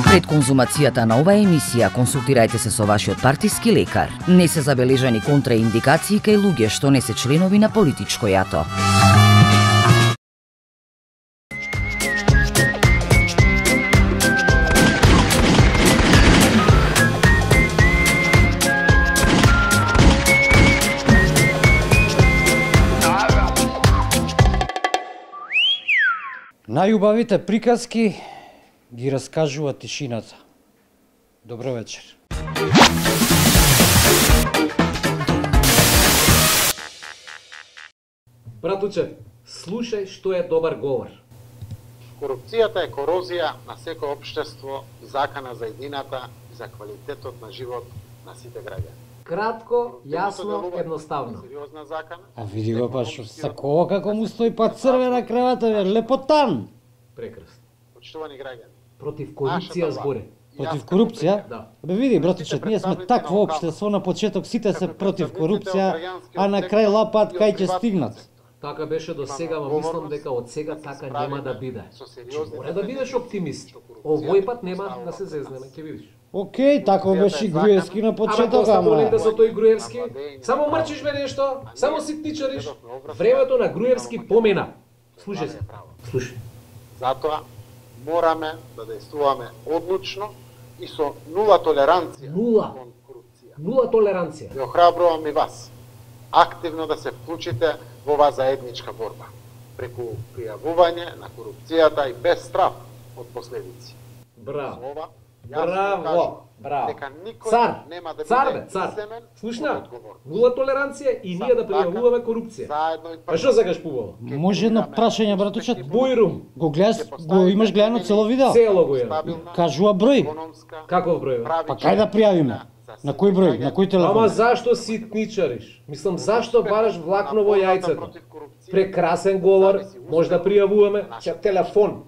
Пред конзумацијата на оваа емисија консултирајте се со вашиот партиски лекар. Не се забележани контраиндикации кај луѓе што не се членови на политичко јато. Најубавите приказки ги раскажува тишината. Добро вечер. Братуче, слушај што е добар говор. Корупцијата е корозија на секое општество, закана за едината и за квалитетот на живот на сите граѓани. Кратко, јасно, едноставно. Сериозна закана. А види го па што сакова како му стои па црвена кревата, бе, лепотан. Прекрасно. Почитувани граѓани. Против корупција зборе. Против корупција? Да. Бе види, братуче, ние сме такво општество, на почеток сите се против корупција, а на крај лапат кај ќе стигнат. Така беше до сега, ма мислам дека од сега така нема да биде. Мора да бидеш оптимист. Овој пат нема да се зезнеме, ќе видиш. Океј, тако беше Груевски на почеток, ама молите за тој Груевски. Само мрчиш бе нешто, само ситничариш. Времето на Груевски помина. Слушај се. Слушај. Затоа мораме да действуваме одлучно и со нула толеранција кон корупција. Нула толеранција. Ве охрабрувам и вас активно да се вклучите во оваа заедничка борба преку пријавување на корупцијата и без страх од последици. Браво. Браво. Браво. Никој Цар, нема да цар биде бе, цар. изземен Слушна, од одговорност. нула толеранција и ние да пријавуваме корупција. Заедно и А што сакаш пубаво? Може едно прашање, братуче? Бојрум. Го гледаш, го имаш гледано цело видео? Цело го имам. Кажува број. Каков број? Па кај да пријавиме? На кој број? На кој телефон? Ама зашто ситничариш? Мислам, зашто бараш влакно во јајцето? Прекрасен говор, може да пријавуваме. Телефон.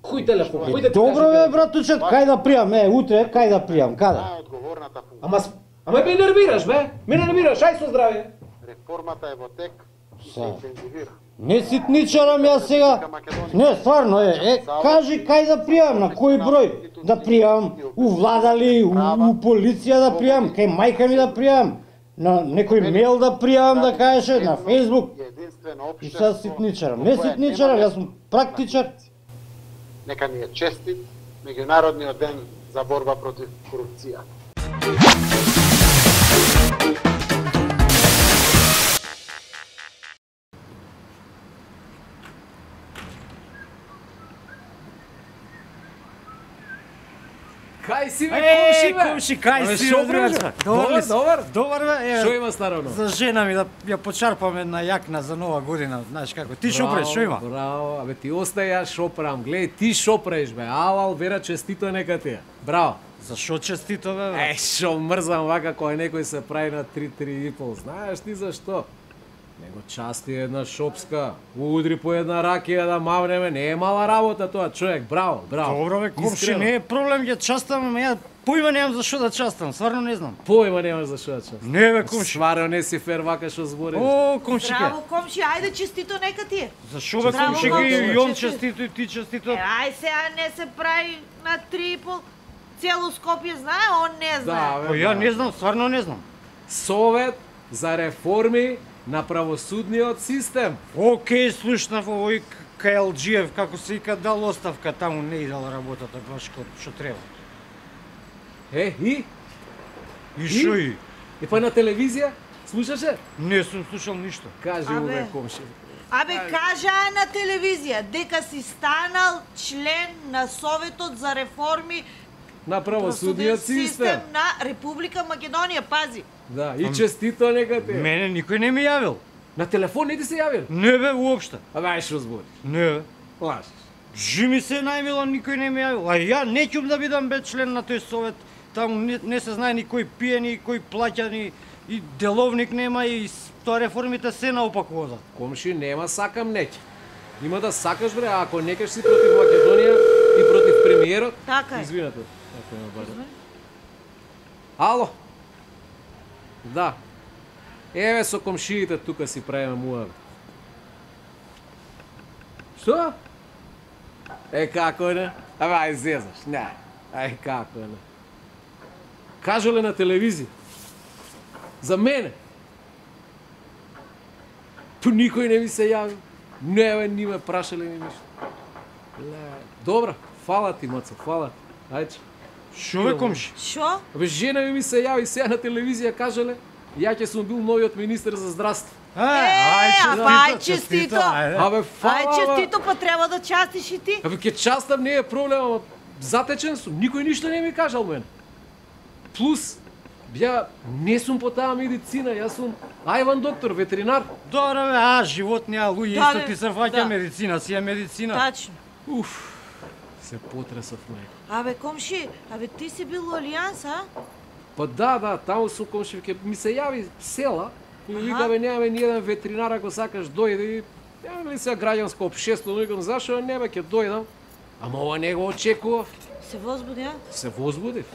Кој телефон? Кој да ти Добро каже бе, телефон? братуче, кај да пријам? Утре кај да пријам? Каде? Најодговорната функција. Ама ме нервираш, бе? Ме нервираш, ај со здравје. Реформата е во тек и се Са. интензивира. Не ситничарам јас сега. Не, стварно кажи кај да пријам, на кој број да пријам, у влада ли, у полиција да пријам, кај мајка ми да пријам, на некој мејл да пријам, да кажеш, на Фејсбук. И сега ситничарам. Не ситничарам, јас сум практичар. Нека ни е честит меѓународниот ден за борба против корупција. Кај си бе, комши бе? Комши, кај си, Добар, добар. Добар бе, Што има старано? за жена ми да ја почарпам една јакна за нова година, знаеш како. Ти шо правиш, шо има? Браво, абе ти остај јас шо правам. Гледај, ти шо правиш бе? Алал, вера честито нека ти е. Браво. За шо честито бе? Шо мрзам вака кога некој се прави на 3-3,5. Знаеш ти зашто? Него части една шопска, удри по една ракија да мавнеме, не е мала работа тоа, човек, браво, браво. Добро бе, комши, Искрено. не е проблем, ја частам, ама ја појма немам за шо да частам, стварно не знам. Појма немаш за што да частам. Не бе, комши. Стварно не си фер вака што збориш. О, комшике. Браво, комши, ајде честито нека ти е. За шо бе, Браво, комши, комши. и он честито и ти честито. Ај сега не се прави на 3,5. Цело Скопје знае, он не знае. Да, Па ја не знам, стварно не знам. Совет за реформи на правосудниот систем. Океј, слушнав овој КЛГ-ев, како се вика, дал оставка, таму не идел работата баш што треба. И И шо и? па на телевизија слушаше? Не сум слушал ништо. Кажи Абе. му бе комши. Абе, кажа на телевизија дека си станал член на Советот за реформи На правосудниот систем. на Република Македонија, пази. Да, и честито нека ти. Мене никој не ми јавил. На телефон не ти се јавил? Не бе, уопште. Абе, ај што збориш? Не бе. Лажеш. Жи ми се најмило, никој не ми јавил. А ја не ќум да бидам бе член на тој совет. Таму не се знае ни кој пие, ни кој плаќа, ни и деловник нема и тоа реформите се наопакуваат. Комши, нема сакам неќе. Има да сакаш бре, а ако некаш си против Македонија и против премиерот. Така е. Извинете. Ако ме бара. Ало. Да. Еве со комшиите тука си правиме муавет. Што? Како не? Абе, ај зезаш, не. Ај како е? Кажале на телевизија. За мене. Ту никој не ми се јави. Не, ни ме прашале ни ништо. Добра, фала ти, маца, фала ти. Ајче. Шо бе, комши? Шо? Абе, жена ми се јави сега на телевизија, кажале, ја ќе сум бил новиот министер за здравство. Ај, честито. Абе, фала. Ај, честито, па треба да частиш и ти. Абе, ке частам, не е проблем, ама затечен сум. Никој ништо не ми кажал мене. Плюс, ја не сум по таа медицина, јас сум Ајван доктор, ветеринар. Добре бе, животни, луѓе, Да, исто бе, ти се фаќа да. медицина, си е медицина. Тачно. Уф, се потресав мајка. Абе, комши, ти си бил во Алијанс, а? Па да, таму со комшивке ми се јави села и ми Аха. вика, бе, немаме ни еден ветеринар, ако сакаш дојде и немаме ли сега граѓанско општество, викам, зашо не бе, ќе дојдам. Ама ова не го очекував. Се возбуди, а? Се возбудив.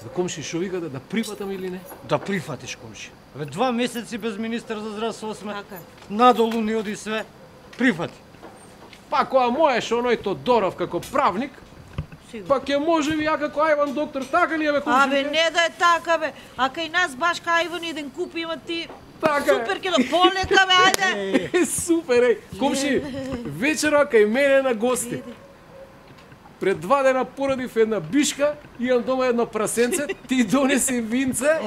Да комши шо викате, да прифатам или не? Да прифатиш, комши. Бе, 2 месеци без министер за здравство сме. Така е. Надолу ни оди све. Прифати. Па која можеш оној Тодоров како правник, Сигурно. па ќе може би ја како Ајван доктор, така ли е бе комши? Абе, не да е така, бе. А кај нас баш Ајван еден куп има ти... Така е. Супер, ке да полека, бе, ајде. Супер, комши, вечера кај мене на гости. Пред 2 дена порадив една бишка, имам дома едно прасенце, ти донеси винце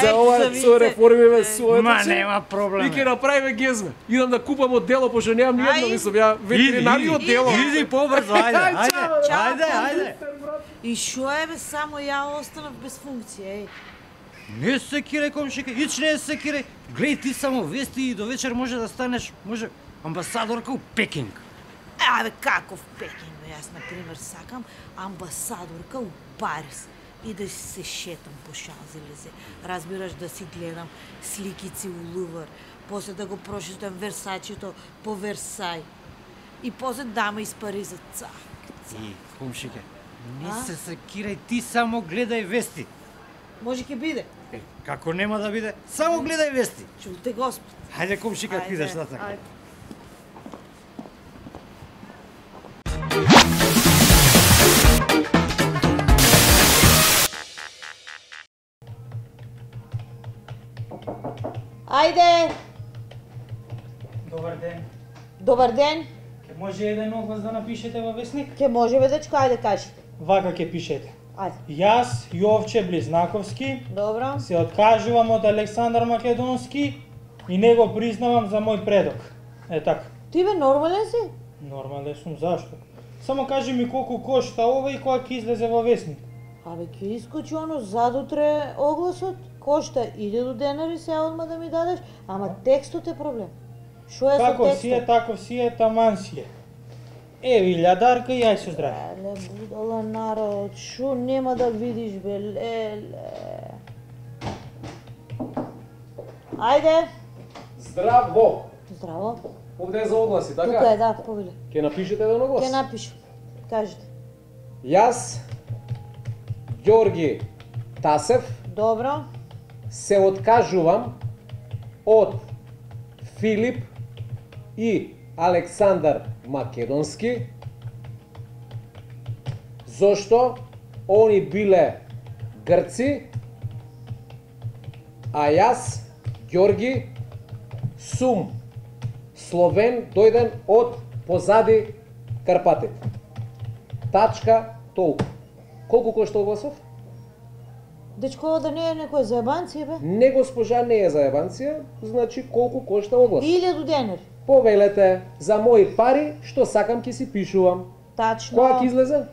за ова Ајде, за со винце. реформиве со Ма нема проблем. И ќе направиме гезме. Идам да купам одело, пошто немам ни едно, Ај. мислам ја ветеринари одело. Иди побрзо, ајде, Чао, ајде. И шо е, бе, само ја останав без функција, еј. Не се кире, комшика, ич не се кире. Гледај ти само вести и до вечер може да станеш, може амбасадорка у Пекинг. Абе, каков Пекин, бе, јас, например, сакам амбасадорка у Париз и да се шетам по Шанзелизе. Разбираш, да си гледам сликици у Лувар, после да го прошетам Версачето по Версај и после дама из Париза, цак. И, комшика, не А? се секирај, ти само гледај вести. Може ке биде? Како нема да биде? Само гледај вести. Чул те Господ. Хајде, комшика, идеш натака. ајде. Ајде! Добар ден. Добар ден. Ке може еден оглас да напишете во весник? Ке може, бе, дечко, ајде кажете. Вака ќе пишете. Ајде. Јас, Јовче Близнаковски, Добро. се откажувам од Александар Македонски и не го признавам за мој предок. Е така. Ти, бе, нормален си? Нормален сум, зашто? Само кажи ми колку кошта ова и кога ќе излезе во весник. Абе, ќе искочи оно задутре огласот, кошта 1000 денари, сега одма да ми дадеш, ама текстот е проблем. Шо е со Како текстот? си е, тако си е, таман си е. Еви, лјадарка и ај со здраве. Леле, будала народ, шо нема да видиш, бе, леле. Ајде, Здраво! здраво. Овде е за огласи, така? Тука е, да, повеле. Ќе напишете еден оглас? Ќе напишам. Кажете. Јас, Ѓорги Тасев, Добро. се откажувам од Филип и Александар Македонски, зошто они биле грци, а јас, Ѓорги, сум словен, дојден од позади Карпатите. Тачка, толку. Колку кошта огласов? Дечко, ова да не е некоја заебанција, бе? Не, госпожа, не е заебанција, значи колку кошта оглас. 1000 денари. Повелете, за мои пари, што сакам ќе си пишувам. Тачно. Кога ќе излезе?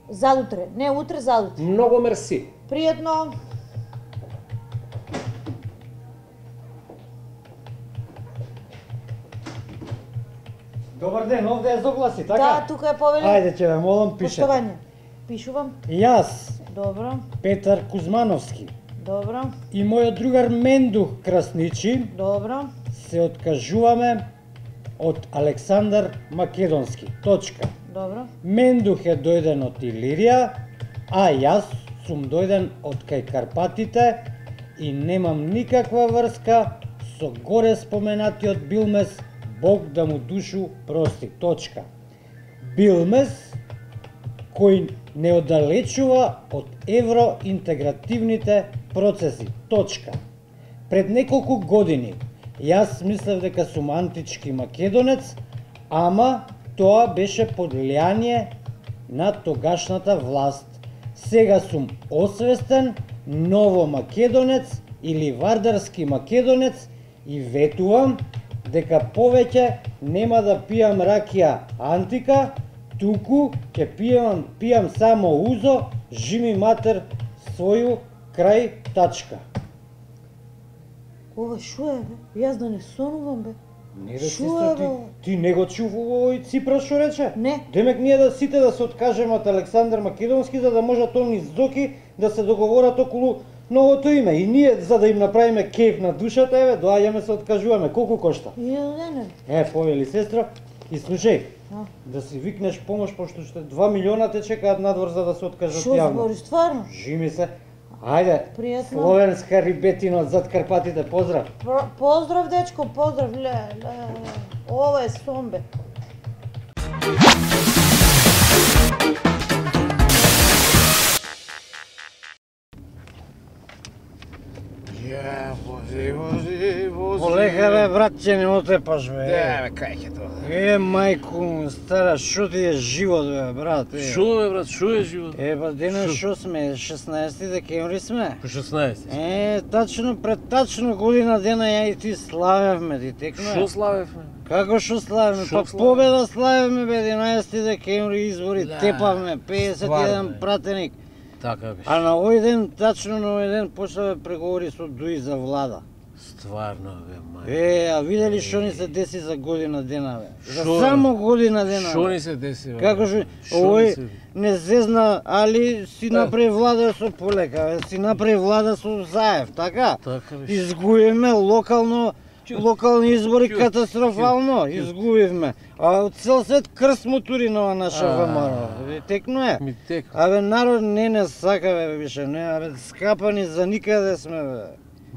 Задутре. Не, утре, задутре. Многу мерси. Пријатно. Добар ден, овде е за огласи, така? Да, тука е повеле. Ајде ќе ве молам, пишете. Поштовање. Пишувам. Јас, Добро. Петар Кузмановски Добро. и мојот другар Мендух Красничи Добро. се откажуваме од Александар Македонски. Точка. Добро. Мендух е дојден од Илирија, а јас сум дојден од кај Карпатите и немам никаква врска со горе споменатиот Билмес, Бог да му душу прости. Точка. Билмес, кој не оддалечува од евроинтегративните процеси. Точка. Пред неколку години јас мислев дека сум антички македонец, ама тоа беше под влијание на тогашната власт. Сега сум освестен новомакедонец или вардарски македонец и ветувам дека повеќе нема да пијам ракија антика, туку ќе пијам само узо, жими матер своју крај точка. Ова шо е, бе? Јас да не сонувам, бе. Не да Шо сестра, е, бе? ти не го чув овој Ципра шо рече? Не. Демек ние да сите да се откажеме од Александар Македонски за да можат они зоки да се договорат околу новото име. И ние за да им направиме кеф на душата, еве, доаѓаме се откажуваме. Колку кошта? Не. Повели сестра, и слушај, А? да си викнеш помош, пошто што 2 милиона те чекаат надвор за да се откажат Шо јавно. збориш, стварно? Жими се. Ајде, Пријатно. словенска рибетина од зад Карпатите, поздрав. Поздрав, дечко, поздрав, ле. Ова е сомбе. Полека бе, братче, не отепаш бе. Бе, кај ќе тоа? Мајку, стара, шо ти е живот бе, брат? Шо бе, брат, шо е живот? Па денес шо сме, 16 декември сме? По 16. Тачно пред тачно година дена ја и ти славевме, ти текна. Шо славевме? Како шо славевме? Шо Па славевме? победа славевме бе, 11 декември избори, Да. тепавме, 51 Стварно, бе. пратеник. Така беше. А на овој ден, тачно на овој ден, почнаве преговори со Дуи за влада. Стварно бе, мај. А видели што ни се деси за година дена бе? За Шо, само година дена. Шо бе. ни се деси бе? Како што Шо ни овој се- не зезна, али си направи влада со Полека, бе, си направи влада со Заев, така? Така беше. Изгубивме локални избори Чу, катастрофално, изгубивме. А од цел свет крст му тури нова наша ВМРО. Текно е. Ми тека. Абе народ не сака бе више, не, абе скапани за никаде сме бе.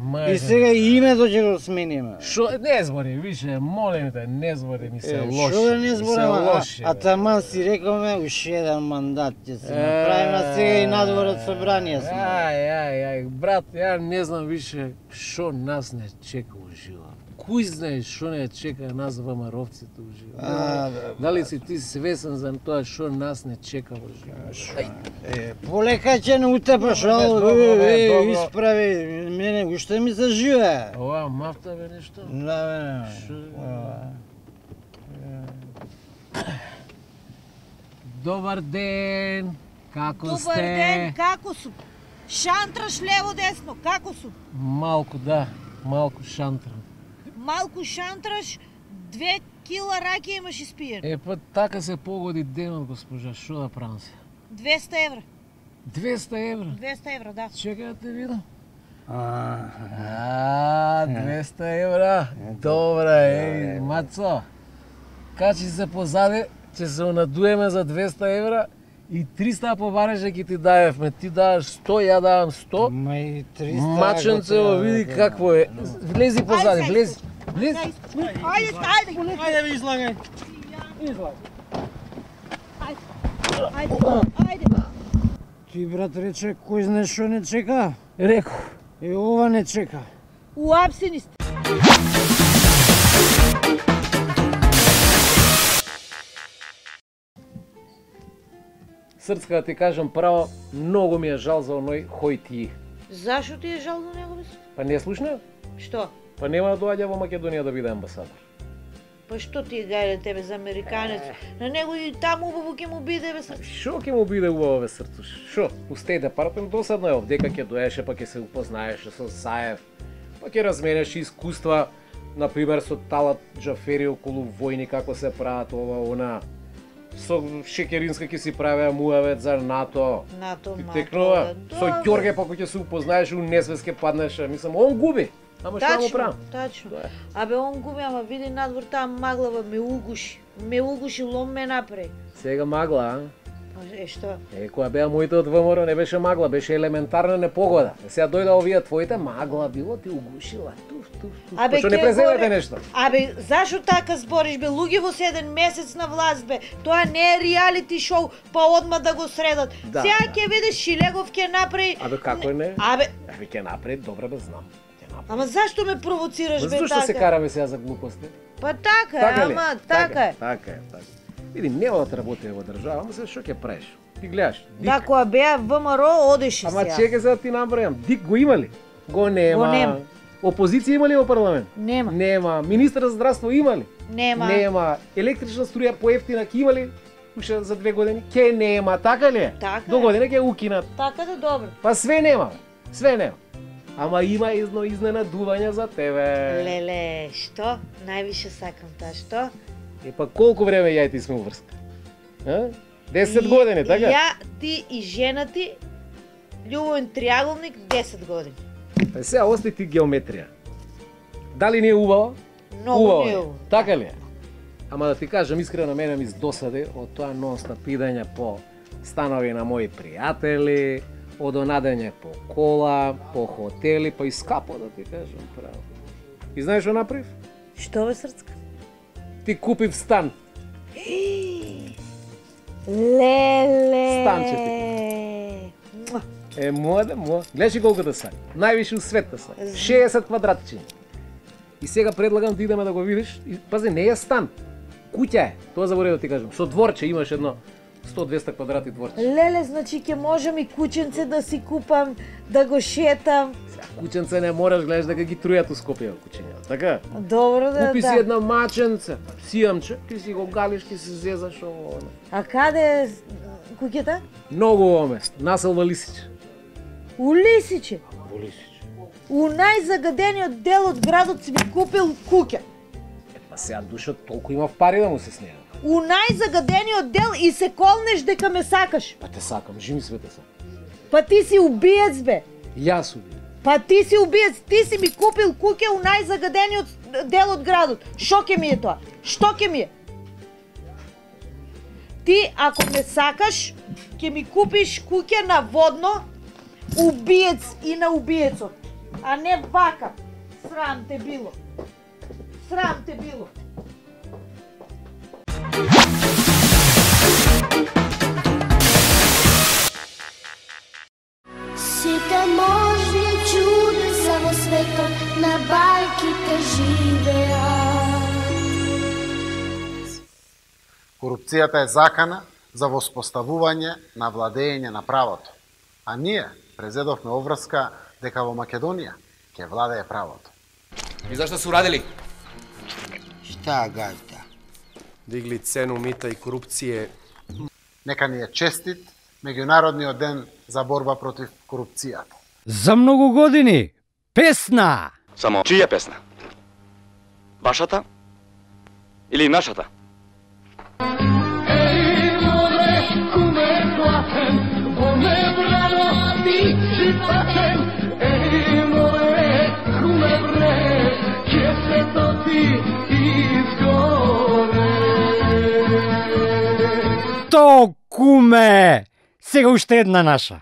Мај, И сега и името ќе го смениме. Шо, не збори, више, молим те, не збори, ми се лоши. Шо да не зборам, лоши. а таман си рековме уште еден мандат ќе се направиме, а сега и надвор од собрание сме. Ај, брат, ја не знам више шо нас не чека ужива. Кој знае шо не чека нас ВМРО-вците ужива? Дали си ти свесен за тоа шо нас не чека ужива? Полека ќе не утепаш, добро. исправи, мене уште ми се живе. Ова мафта бе нешто? Да, бе. Шо? Добар ден, како сте? Добар ден, како сум? Шантраш лево десно, како сум? Малку, да, малку шантрам. Малку шантраш, 2 кила ракија имаш испиен. Па така се погоди денот, госпожа, шо да правам се? 200 евра. 200 евра? 200 евра, да. Чекай да те видам. 200 евра. Добра, еј, Мацо. Качи се позаде, ќе се унадуеме за 200 евра и 300 побареше ќе ти даевме. Ти даваш 100, ја давам 100. Мај 300. Маченце, види какво е. Влези позаде, влези. Влези. Ајде, ви излагај. ајде. Ти брат рече кој знае што не чека? Реко. И ова не чека. Уапсени сте. Срцка да ти кажам право, многу ми е жал за оној Хојтии. Зашо ти е жал за него, бе? Па не слушна? Што? Па нема да доаѓа во Македонија да биде амбасадор. Па што ти е гајле тебе за американец? На него и таму убаво ќе му биде, бе. Шо ќе му биде убаво, бе, срцуш? Шо? У Стејт Департамент досадно е овдека ќе доеше, па ќе се упознаеше со Заев, па ќе разменеш искуства, например со Талат Джафери околу војни, како се прават ова, она. Со Шекеринска ќе си правеа муавет за НАТО. НАТО, Ти мато. текнува. Со Ѓорге па ќе се упознаеш, у несвес ќе паднеше. Мислам, он губи. Ама што му правам? Тачно. Тоа е. Абе, он губи, ама види надвор таа маглава, ме угуши. Ме угуши, лом ме направи. Сега магла, а? Што? Кога беа моите од ВМРО не беше магла, беше елементарна непогода. Сега дојда овие твоите, магла било, ти угушила, туф. Што не преземете нешто? Абе, зашо така збориш, бе? Луѓе во 7 месец на власт, бе. Тоа не е реалити шоу, па одма да го средат. Сега ќе видиш, Шилегов ќе направи... Абе, како не? Абе, ќе направи, добре бе знам. Ама зашто ме провоцираш, бе, така? Зашто се караме сега за глупости? Па така е, ама така е. Така е. Види, нема да работи во држава, ама се што ќе правиш? Ти гледаш. Да, кога беа ВМРО, одеше сега. Ама чекај сега ти набројам. Дик го има ли? Го нема. Опозиција има ли во парламент? Нема. Министар за здравство има ли? Нема. Електрична струја поевтина ќе има ли? Уште за 2 години? Ке нема, така ли е? Така. До година ќе укинат. Така да добро. Па све нема. Ама има едно изненадување за тебе. Леле, што? Највише сакам таа, што? Па колку време ја и ти сме уврска? 10 години, така? Ја, ти и жена ти, љубовен триаголник, 10 години. Па сега ости ти геометрија. Дали не е убаво? Многу не е убаво. Така ли е? Ама да ти кажам, искрено мене ми издосади од тоа нонстап идење по станови на мои пријатели, од онадење по кола, по хотели, па и скапо, да ти кажам право. И знаеш што направив? Што бе, Срцка? Ти купив стан. Леле! Станче ти. Моја. Гледаш колку да са. Највише у светот са. 60 квадратчини. И сега предлагам да идеме да го видиш. И, пази, не е стан. Куќа е. Тоа заборев да ти кажам. Со дворче имаш едно 100-200 квадрати дворче. Леле, значи ќе можам и кученце да си купам, да го шетам. Кученце не мораш, гледаш дека ги трујат у Скопје кучиња, така? Добро да. Купи си една маченце, сијамче, ќе си го галиш, ќе се зезаш ово. А каде е куќата? Многу омест, населба Лисич. У Лисиче? Во Лисич. У најзагадениот дел од градот си ми купил куќа. Па сега душот толку има пари да му се снега. У најзагадениот дел и се колнеш дека ме сакаш. Па те сакам, жими свете се. Па ти си убиец, бе. Јас убиец. Па ти си убиец, ти си ми купил куќа у најзагадениот дел од градот. Што ќе ми е тоа? Што ќе ми е? Ти, ако ме сакаш, ќе ми купиш куќа на водно, убиец и на убиецот. А не вака. Срам те било. Срам те било. Сите можни чудеса во светот на бајките живеат. Корупцијата е закана за воспоставување на владење на правото. А ние презедовме обврска дека во Македонија ќе владее правото. И зашто се урадили? Шта, газда? Дигли цену мита и корупција. Нека ни е честит Меѓународниот ден за борба против корупцијата. За многу години! Песна! Само чија песна? Вашата? Или нашата? То, куме! Сега уште една наша.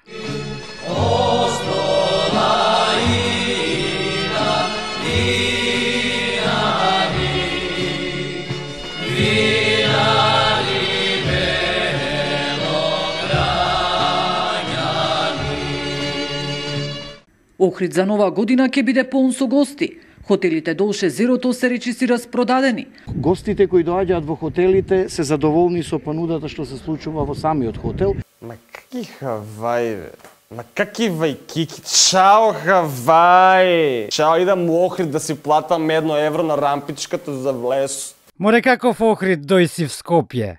Охрид за нова година ќе биде полн со гости. Хотелите Долше Зерото се речиси распродадени. Гостите кои доаѓаат во хотелите се задоволни со понудата што се случува во самиот хотел. Ма каки Хаваи, бе? Ма каки Вајкики? Чао, Хаваи! Чао, идам у Охрид да си платам €1 на рампичката за влез. Море каков Охрид дој си в Скопје.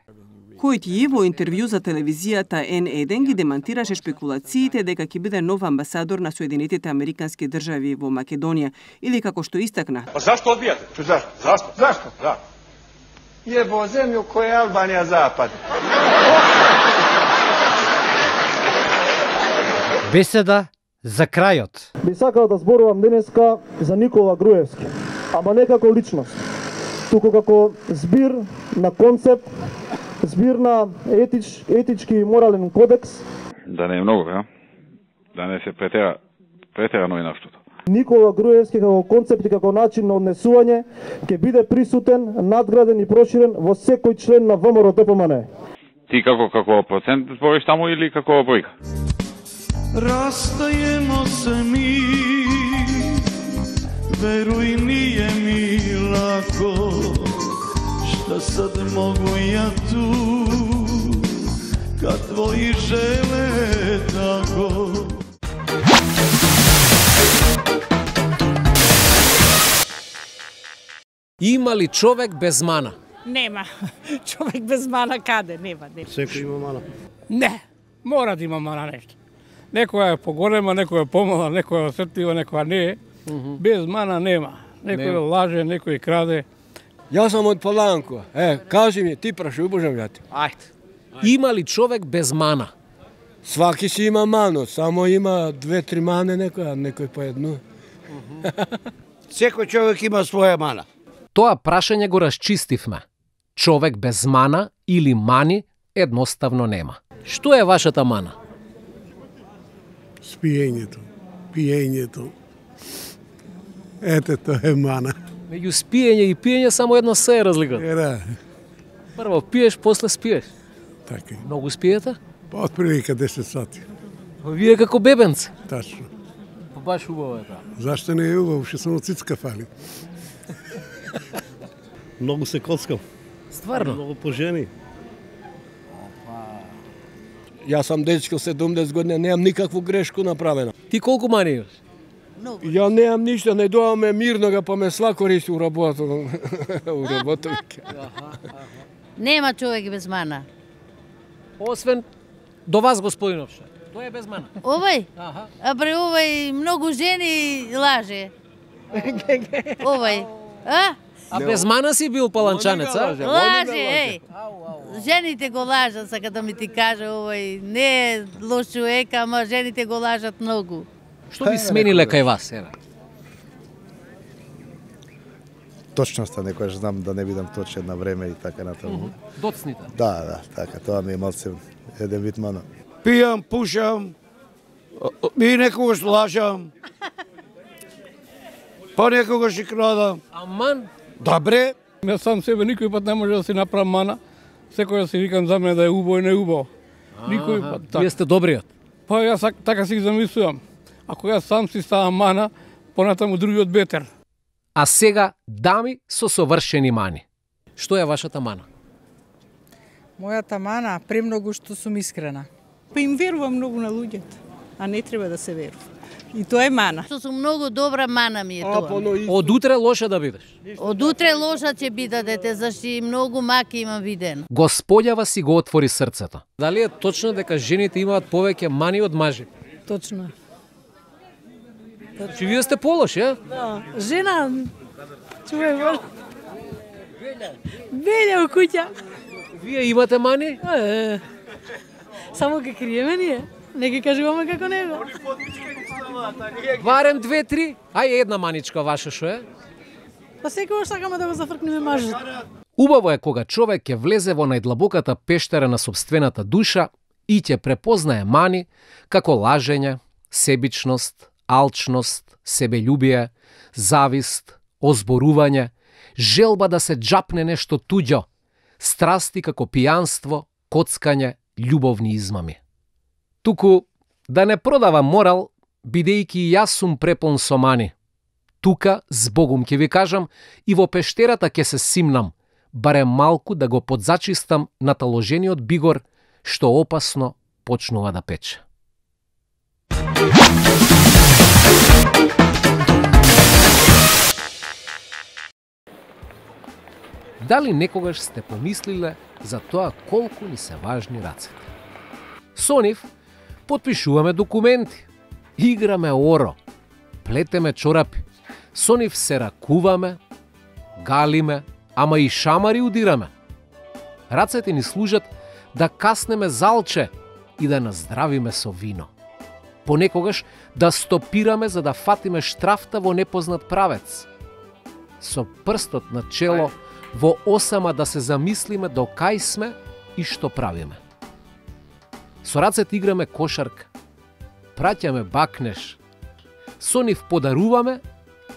Кој тие во интервју за телевизијата N1 ги демантираше шпекулациите дека ќе биде нов амбасадор на Соединетите Американски држави во Македонија, или како што истакна. Па зашто одбијате? Зашто? Да. Е во земју која е Албанија запад. Беседа за крајот. Би сакал да зборувам денеска за Никола Груевски, ама не како личност, туку како збир на концепт збир на етички и морален кодекс. Да не е многу, бе, да не се претерано и наштото. Никола Груевски како концепт и како начин на однесување ќе биде присутен, надграден и проширен во секој член на ВМРО ДПМН. Ти како процент збориш таму или како бројка? Расстајемо се ми, веруј nije mi lako, šta sad mogu ja tu, kad tvoji žele tako. Има ли човек без мана? Нема. Човек без мана каде? Нема. Секој има мана. Не, мора да има мана нешто. Некоја е поголема, некоја е помала, некоја е осетлива, некоја не е. Без мана нема. Некој лаже, некој краде. Јас сум од Паланко. Кажи ми, ти прашај, можам ја ти. Ајде. Има ли човек без мана? Сваки си има мано, само има 2-3 мане некој по едно. Секој човек има своја мана. Тоа прашање го расчистивме. Човек без мана или мани едноставно нема. Што е вашата мана? Пиењето. Ете, тоа е мана. Меѓу спиење и пиење само едно се е разликата. Да. Прво пиеш, после спиеш. Така. Многу спиете? Отприлика 10 сати. Вие како бебенци. Тачно. Баш убаво е тоа. Зашто не е убаво, ше само цицка фали. Многу се коцкам. Стварно? Многу по жени. Јас сам дечко 70 години, немам никакvu грешку направена. Ти колку мани имаш? Ја немам ништо, не доаме мирно га па ме слакориси у работа. У работовке. Нема човек без мана. Освен до вас, господиновше. Тој е без мана. Овај? А бре, овај многу жени лаже. Овај. А без мана си бил паланчанец, а? Лаже, еј. Жените го лажат, сака да ми ти кажа, овај не е лош човек, ама жените го лажат многу. Што би смениле кај вас, еве? Точноста, некојаш знам да не бидам точен на време и така натаму. Доцните? Да, така, тоа ми е малце еден вид мана. Пијам, пушам, и некогаш лажам, понекогаш и крадам. Аман? Добре. Јас сам себе никој пат не може да си направам мана. Секој си викам за мене да е убаво и не убаво. Никој пат. Вие сте добриот. Па јас така си ги замислувам. Ако јас сам си ставам мана, понатаму другиот бетер. А сега дами со совршени мани. Што е вашата мана? Мојата мана, премногу што сум искрена. Па им верувам многу на луѓето, а не треба да се верува. И тоа е мана. Што сум многу добра мана ми е тоа. Од утре лоша да бидеш? Од утре лоша ќе бидете, зашто многу маки имам видено. Господјава си го отвори срцето. Дали е точно дека жените имаат повеќе мани од мажи? Точно. Че вие сте полоши, а? Да. Жена, чуе, белја у куќа. Вие имате мани? Само ке криеме ние. Не ги кажуваме како него. Барем 2-3. Ај една маничка ваша шо е? Па секогаш сакаме да го зафркнеме мажот. Убаво е кога човек ќе влезе во најдлабоката пештера на собствената душа и ќе препознае мани како лажење, себичност, алчност, себељубие, завист, озборување, желба да се џапне нешто туѓо, страсти како пијанство, коцкање, љубовни измами. Туку да не продавам морал, бидејќи и јас сум препон со мани. Тука, збогум ќе ви кажам, и во пештерата ќе се симнам, барем малку да го подзачистам наталожениот бигор, што опасно почнува да пече. Дали некогаш сте помислиле за тоа колку ни се важни рацете? Со нив потпишуваме документи, играме оро, плетеме чорапи, со нив се ракуваме, галиме, ама и шамари удираме. Рацете ни служат да каснеме залче и да наздравиме со вино. Понекогаш да стопираме за да фатиме штрафта во непознат правец. Со прстот на чело во осама да се замислиме до кај сме и што правиме. Со рацете играме кошарка, праќаме бакнеш, со нив подаруваме,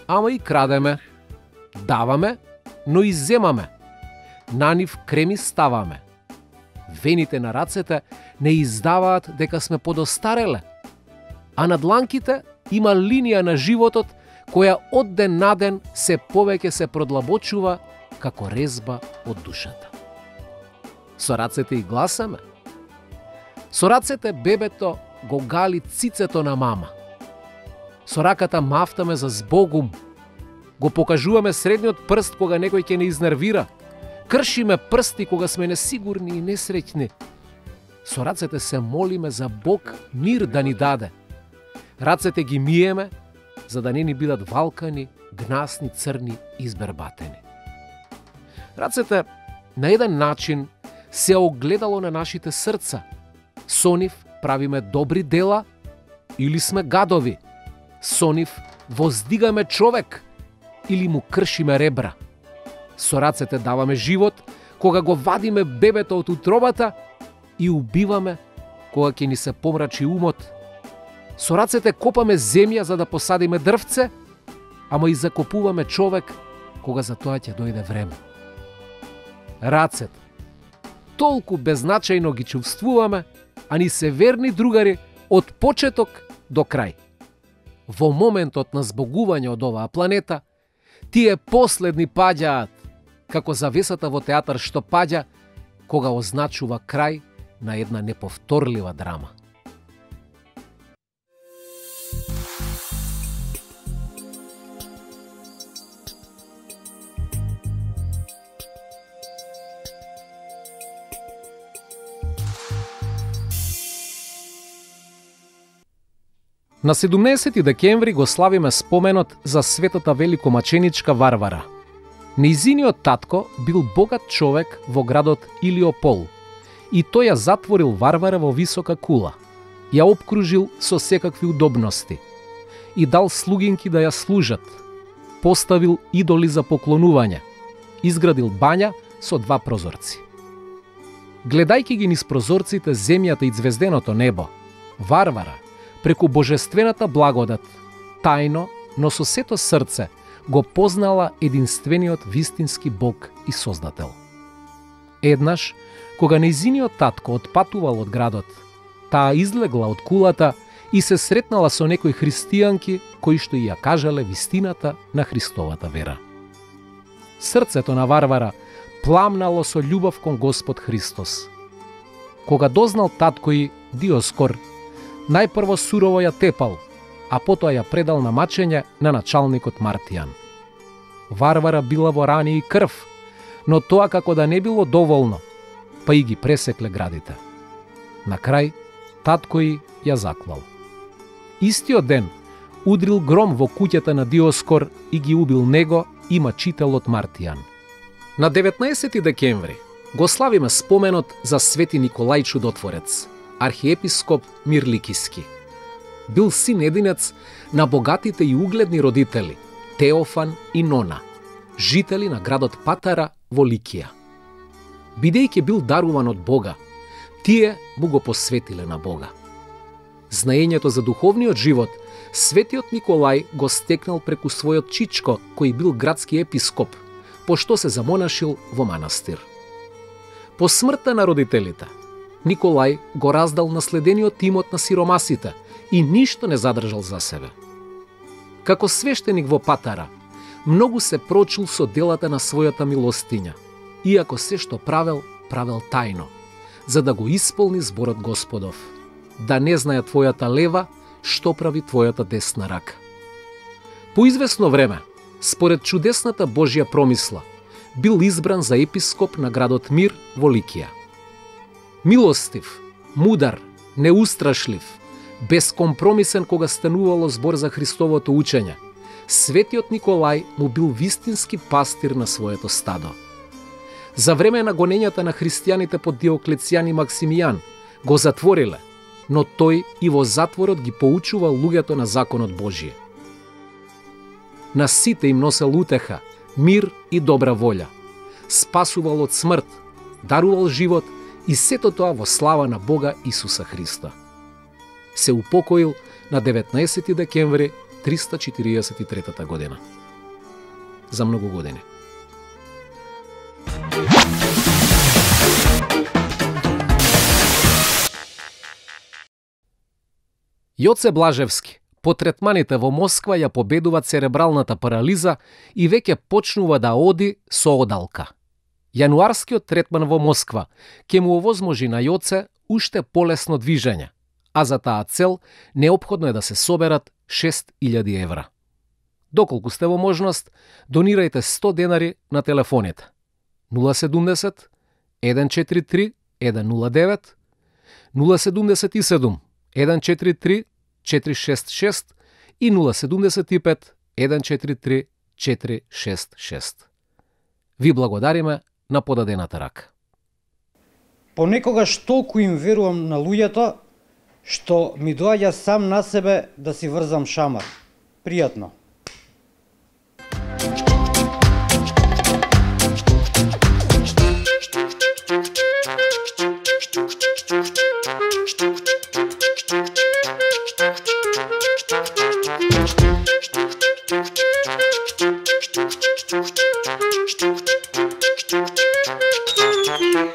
ама и крадеме, даваме, но и земаме, на нив креми ставаме. Вените на рацете не издаваат дека сме подостареле, а на дланките има линија на животот која од ден на ден се повеќе се продлабочува како резба од душата. Со рацете и гласаме. Со рацете бебето го гали цицето на мама. Со раката мафтаме за збогум. Го покажуваме средниот прст кога некој ќе не изнервира. Кршиме прсти кога сме несигурни и несреќни. Со рацете се молиме за Бог мир да ни даде. Рацете ги миеме, за да не ни бидат валкани, гнасни, црни и избербатени. Рацете на еден начин се огледало на нашите срца. Со нив правиме добри дела или сме гадови. Со нив воздигаме човек или му кршиме ребра. Со рацете даваме живот кога го вадиме бебето од утробата и убиваме кога ќе ни се помрачи умот. Со рацете копаме земја за да посадиме дрвце, ама и закопуваме човек кога за тоа ќе дојде време. Рацете толку беззначајно ги чувствуваме, а ни се верни другари од почеток до крај. Во моментот на збогување од оваа планета, тие последни паѓаат, како завесата во театар што паѓа, кога означува крај на една неповторлива драма. На 17 декември го славиме споменот за светата великомаченичка Варвара. Нејзиниот татко бил богат човек во градот Илиопол и тој ја затворил Варвара во висока кула, ја обкружил со секакви удобности и дал слугинки да ја служат, поставил идоли за поклонување, изградил бања со 2 прозорци. Гледајќи ги низ прозорците земјата и звезденото небо, Варвара преку божествената благодат, тајно, но со сето срце, го познала единствениот вистински Бог и Создател. Еднаш, кога нејзиниот татко отпатувал од градот, таа излегла од кулата и се сретнала со некои христијанки кои што ја кажале вистината на Христовата вера. Срцето на Варвара пламнало со љубов кон Господ Христос. Кога дознал татко и Диоскор, најпрво сурово ја тепал, а потоа ја предал на мачење на началникот Мартијан. Варвара била во рани и крв, но тоа како да не било доволно, па и ги пресекле градите. На крај, татко и ја заклал. Истиот ден удрил гром во куќата на Диоскор и ги убил него и мачителот Мартијан. На 19 декември го славиме споменот за Свети Николај Чудотворец, архиепископ Мирликиски. Бил син единец на богатите и угледни родители Теофан и Нона, жители на градот Патара во Ликија. Бидејќи бил даруван од Бога, тие му го посветиле на Бога. Знаењето за духовниот живот Светиот Николај го стекнал преку својот чичко, кој бил градски епископ, пошто се замонашил во манастир. По смртта на родителите, Николај го раздал наследениот имот на сиромасите и ништо не задржал за себе. Како свештеник во Патара, многу се прочул со делата на својата милостиња, иако се што правел тајно, за да го исполни зборот Господов. Да не знае твојата лева, што прави твојата десна рака. По извесно време, според чудесната Божја промисла, бил избран за епископ на градот Мир во Ликија. Милостив, мудар, неустрашлив, безкомпромисен кога станувало збор за Христовото учење, Светиот Николај му бил вистински пастир на своето стадо. За време на гонењата на христијаните под Диоклецијан и Максимијан го затвориле, но тој и во затворот ги поучувал луѓето на законот Божје. На сите им носел утеха, мир и добра волја. Спасувал од смрт, дарувал живот И сето тоа во слава на Бога Исуса Христа. Се упокоил на 19 декември 343 година. За многу години. Јоце Блажевски, по третманите во Москва ја победува церебралната парализа и веќе почнува да оди со одалка. Јануарскиот третман во Москва ќе му овозможи на Јоце уште полесно движење, а за таа цел неопходно е да се соберат 6000 евра. Доколку сте во можност, донирајте 100 денари на телефоните 070 143 109, 077 143 466 и 075 143 466. Ви благодариме на подадената рака. Понекогаш толку им верувам на луѓето, што ми доаѓа сам на себе да си врзам шамар. Пријатно. Thank you.